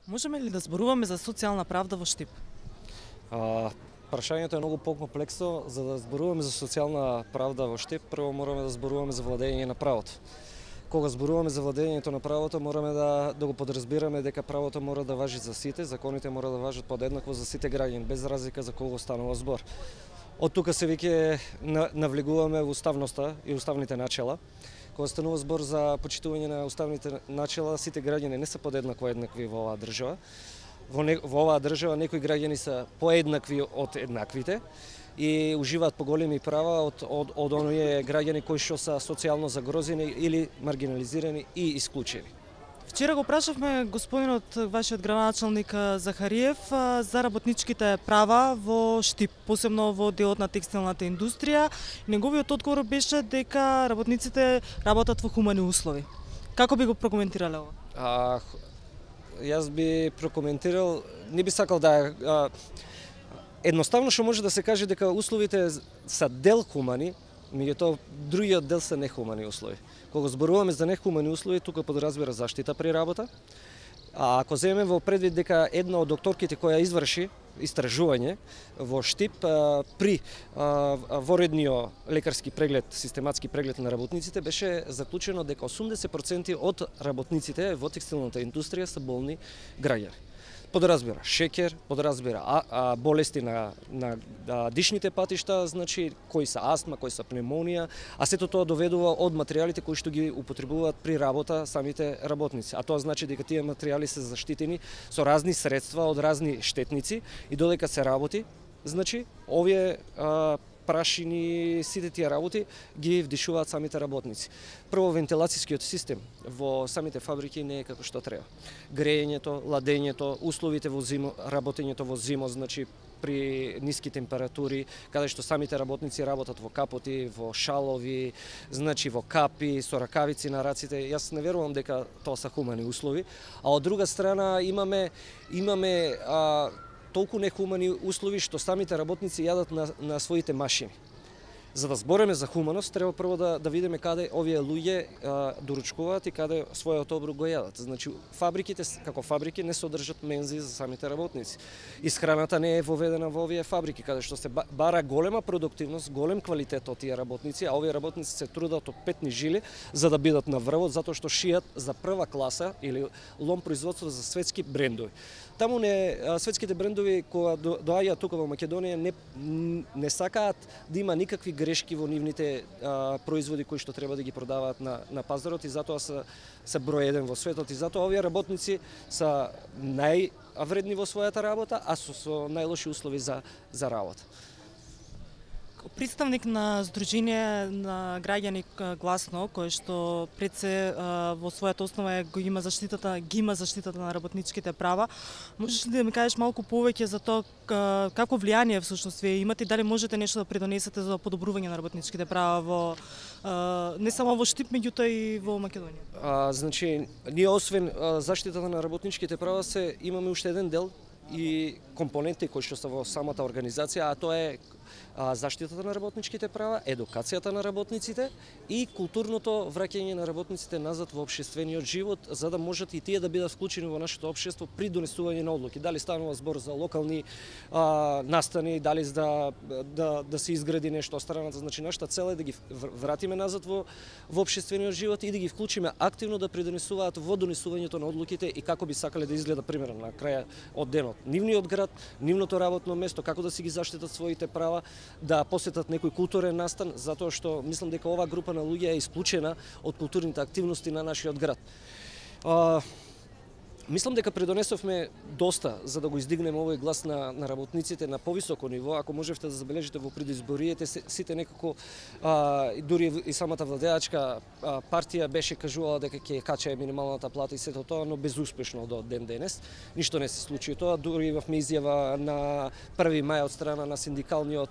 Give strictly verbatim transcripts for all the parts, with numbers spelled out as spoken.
Можеме ли да зборуваме за социјална правда во Штип? А, прашањето е многу покомплексно. За да зборуваме за социјална правда во Штип, прво мораме да зборуваме за владење на правото. Кога зборуваме за владењето на правото, мораме да, да го подразбираме дека правото мора да важи за сите, законите мора да важат подеднакво за сите граѓани, без разлика за кого станува збор. Од тука се веќе навлегуваме во уставноста и уставните начела. Кога станува збор за почитување на уставните начела, сите граѓани не се подеднакво еднакви во оваа држава. Во, не, во оваа држава некои граѓани се поеднакви од еднаквите и уживаат поголеми права од, од, од оние граѓани кои што се социјално загрозени или маргинализирани и исклучени. Вчера го прашавме господинот, вашиот градоначалник Захариев, за работничките права во Штип, посебно во делот на текстилната индустрија. Неговиот одговор беше дека работниците работат во хумани услови. Како би го прокоментирале ова? А, јас би прокоментирал, не би сакал да а, едноставно што може да се каже дека условите се дел хумани, меѓутоа другиот дел се нехумани услови. Кога зборуваме за нехумани услови, тука подразбира заштита при работа. А ако земеме во предвид дека една од докторките која изврши истражување во Штип при воредниот лекарски преглед, систематски преглед на работниците, беше заклучено дека осумдесет проценти од работниците во текстилната индустрија се болни граѓани. Подразбира шеќер, подразбира а, а, болести на, на а, дишните патишта, значи кои се астма, кои се пневмонија, а сето тоа доведува од материјалите кои што ги употребуваат при работа самите работници. А тоа значи дека тие материјали се заштитени со разни средства од разни штетници и додека се работи, значи овие а, прашини, сите тие работи ги вдишуваат самите работници. Прво, вентилацијскиот систем во самите фабрики не е како што треба. Грејењето, ладењето, условите во зимо, работењето во зимо, значи при ниски температури, каде што самите работници работат во капоти, во шалови, значи во капи, со ракавици на раците. Јас не верувам дека тоа се хумани услови. А од друга страна имаме имаме а, толку нехумани услови што самите работници јадат на, на своите машини. За да збореме за хуманост, треба прво да, да видиме каде овие луѓе а, доручкуваат и каде својот оброк го јадат. Значи, фабриките, како фабрики, не содржат мензи за самите работници. Исхраната не е воведена во овие фабрики, каде што се бара голема продуктивност, голем квалитет од тие работници, а овие работници се трудат од петни жили за да бидат на врвот, затоа што шијат за прва класа или лом производство за светски брендови. Таму не светските брендови кога доаѓаат тука во Македонија не не сакаат да има никакви грешки во нивните а, производи кои што треба да ги продаваат на на пазарот и затоа се се број еден во светот и затоа овие работници се највредни во својата работа, а со, со најлоши услови за за работа. Представник на Сдружение на граѓани Гласно, кој што пред се во својата основа е, го има заштитата, ги има заштитата на работничките права. Можеш ли да ми кажеш малку повеќе за тоа како влијание всушност вие имате и дали можете нешто да придонесете за подобрување на работничките права во не само во Штип, меѓутоа и во Македонија? А, значи, ние освен а, заштитата на работничките права се имаме уште еден дел и компоненти кои што се во самата организација, а тоа е заштитата на работничките права, едукацијата на работниците и културното враќање на работниците назад во општествениот живот, за да можат и тие да бидат вклучени во нашето општество при донесување на одлуки. Дали станува збор за локални а, настани, дали за да, да, да се изгради нешто страната. Значи, нашата цел е да ги вратиме назад во, во општествениот живот и да ги вклучиме активно да придонесуваат во донесувањето на одлуките и како би сакале да изгледа примерно на крај од денот. Нивниот град, нивното работно место, како да си ги заштитат своите права, да посетат некој културен настан, затоа што мислам дека оваа група на луѓе е исклучена од културните активности на нашиот град. А, мислам дека придонесовме доста за да го издигнеме овој глас на, на работниците на повисоко ниво. Ако можевте да забележите во предизбориите, сите некако, а, дури и самата владеачка а, партија беше кажувала дека ќе качае минималната плата и сето тоа, но безуспешно до ден денес. Ништо не се случи тоа, дури имавме изјава на први мај од страна на синдикалниот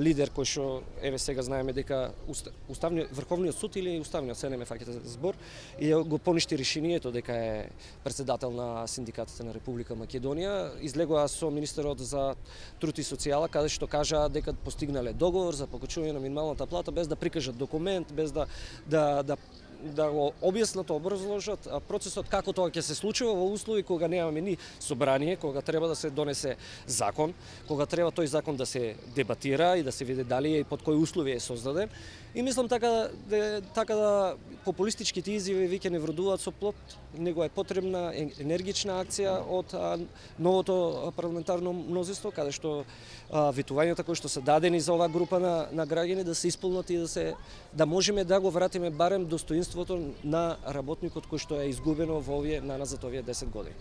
лидер кој што еве сега знаеме дека уставниот Врховниот суд или уставниот, се не ме фаќате збор, и го поништи решението дека е председател на синдикатите на Република Македонија. Излегоа со министерот за труд и социјала, каде што кажа дека постигнале договор за покачување на минималната плата без да прикажат документ, без да да да да го објаснат, образложат процесот како тоа ќе се случува во услови кога немаме ни собрание, кога треба да се донесе закон, кога треба тој закон да се дебатира и да се види дали е и под кои услови е создаден. И мислам така да така да популистичките изјави веќе не вродуваат со плод, него е потребна енергична акција од а, новото парламентарно мнозинство, каде што а, ветувањата кои што се дадени за оваа група на, на граѓани да се исполнат и да се да можеме да го вратиме барем достоинството на работникот кој што е изгубено во овие наназад овие десет години.